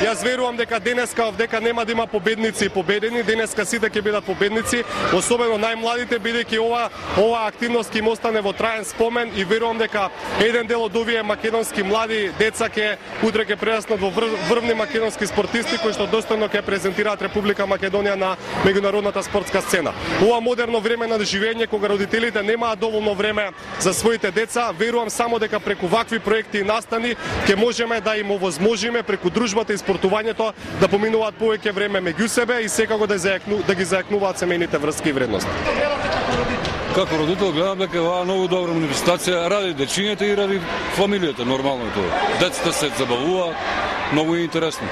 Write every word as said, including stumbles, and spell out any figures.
Јас верувам дека денеска дека нема да има победници и победени, денеска сите ќе бидат победници, особено најмладите, бидејќи ова ова активност ќе им остане во траен спомен и верувам дека еден дел од овие македонски млади деца ќе утре ќе прераснат во врвни македонски спортисти кои што достојно ќе презентираат Република Македонија на меѓународната спортска сцена. Ова модерно време на живење кога родителите немаат доволно време за своите деца, верувам само дека преку вакви проекти и настани ќе можеме да им овозможиме преку дружбата и спортувањето да поминуваат повеќе време меѓу себе и секако да зајакну, да ги зајакнуваат семејните врски и вредности. Како родител гледам дека оваа многу добра манифестација ради дечињата и ради фамилијата, нормално е тоа. Децата се забавуваат, многу е интересно.